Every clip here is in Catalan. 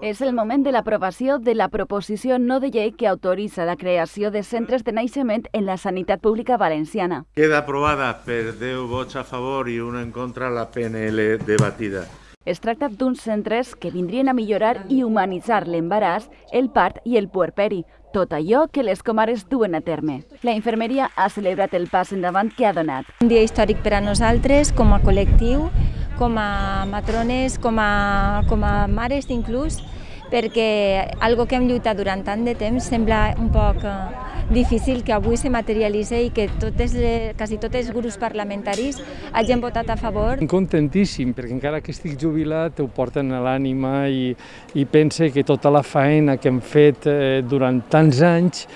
És el moment de l'aprovació de la proposició no de llei que autoritza la creació de centres de naixement en la sanitat pública valenciana. Queda aprovada per 10 vots a favor i 1 en contra la PNL debatida. Es tracta d'uns centres que vindrien a millorar i humanitzar l'embaràs, el part i el puerperi, tot allò que les comares duen a terme. La infermeria ha celebrat el pas endavant que ha donat. Un dia històric per a nosaltres, com a col·lectiu, com a matrones, com a mares inclús, perquè algo que hem lluitat durant tant de temps sembla un poc difícil que avui se materialitzi i que quasi tots els grups parlamentaris hagin votat a favor. Contentíssim, perquè encara que estic jubilat ho porten a l'ànima i pense que tota la faena que hem fet durant tants anys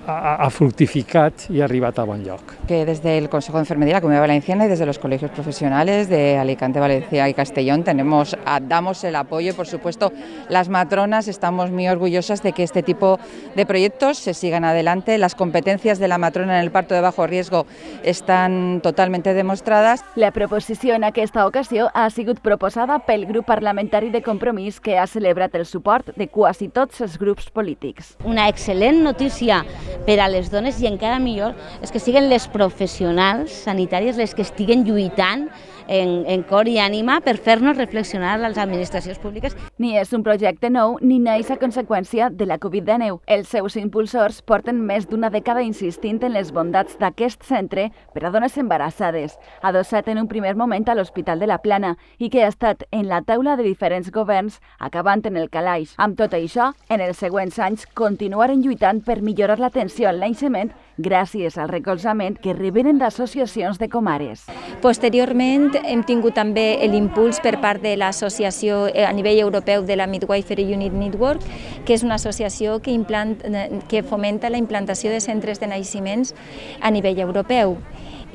ha fructificat y ha arribat a bon lloc. Que desde el Consejo de Enfermería de la Comunidad Valenciana y desde los colegios profesionales de Alicante, Valencia y Castellón damos el apoyo y, por supuesto, las matronas estamos muy orgullosas de que este tipo de proyectos se sigan adelante. Las competencias de la matrona en el parto de bajo riesgo están totalmente demostradas. La proposició en aquesta ocasió ha sigut proposada pel grup parlamentari de Compromís, que ha celebrat el suport de quasi tots els grups polítics. Una excel·lent notícia per a les dones i encara millor és que siguin les professionals sanitàries les que estiguen lluitant en cor i ànima per fer-nos reflexionar a les administracions públiques. Ni és un projecte nou ni neix a conseqüència de la Covid-19. Els seus impulsors porten més d'una dècada insistint en les bondats d'aquest centre per a dones embarassades, adossat en un primer moment a l'Hospital de la Plana i que ha estat en la taula de diferents governs acabant en el calaix. Amb tot això, en els següents anys continuaren lluitant per millorar l'atenció al naixement gràcies al recolzament que reberen d'associacions de comares. Posteriorment hem tingut també l'impuls per part de l'associació a nivell europeu de la Midwifery Unit Network, que és una associació que fomenta la implantació de centres de naixements a nivell europeu.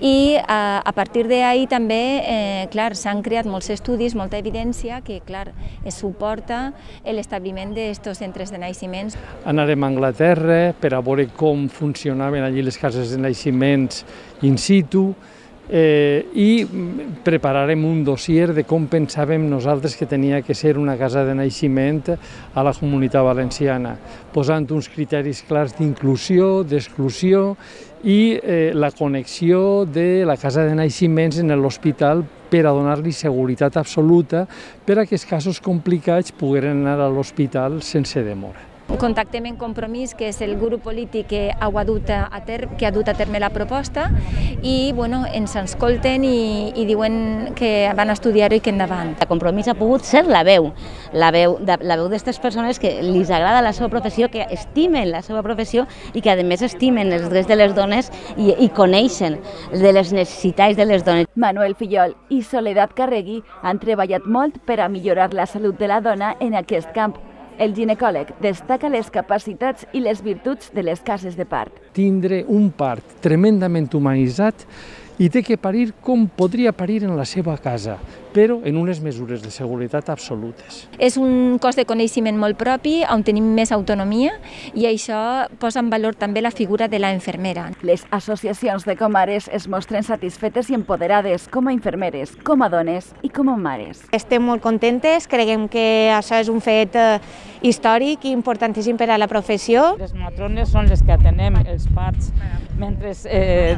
I a partir d'ahir també s'han creat molts estudis, molta evidència que es suporta l'establiment d'aquests centres de naixements. Anarem a Anglaterra per a veure com funcionaven allí les cases de naixements in situ i prepararem un dossier de com pensàvem nosaltres que tenia que ser una casa de naixement a la Comunitat Valenciana, posant uns criteris clars d'inclusió, d'exclusió i la connexió de la casa de naixements en l'hospital per a donar-li seguretat absoluta per a aquests casos complicats pogueren anar a l'hospital sense demora. Contactem en Compromís, que és el grup polític que ha dut a terme la proposta i ens escolten i diuen que van a estudiar-ho i que endavant. El Compromís ha pogut ser la veu d'aquestes persones que els agrada la seva professió, que estimen la seva professió i que a més estimen els drets de les dones i coneixen de les necessitats de les dones. Manuel Fillol i Soledad Carregui han treballat molt per a millorar la salut de la dona en aquest camp. El ginecòleg destaca les capacitats i les virtuts de les cases de part. Tindre un part tremendament humanitzat i té que parir com podria parir en la seva casa, però en unes mesures de seguretat absolutes. És un cos de coneixement molt propi, on tenim més autonomia, i això posa en valor també la figura de la infermera. Les associacions de comares es mostren satisfetes i empoderades com a infermeres, com a dones i com a mares. Estem molt contentes, creiem que això és un fet històric i importantíssim per a la professió. Les matrones són les que atenem els parts mentre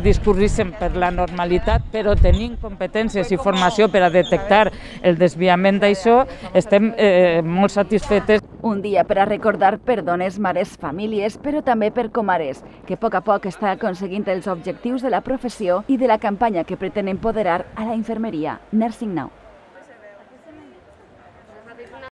discorrissem per la normalitat, però tenint competències i formació per a detectar el desviament d'això, estem molt satisfetes. Un dia per a recordar per dones, mares, famílies, però també per comares, que a poc està aconseguint els objectius de la professió i de la campanya que pretén empoderar a la infermeria Nursing Now.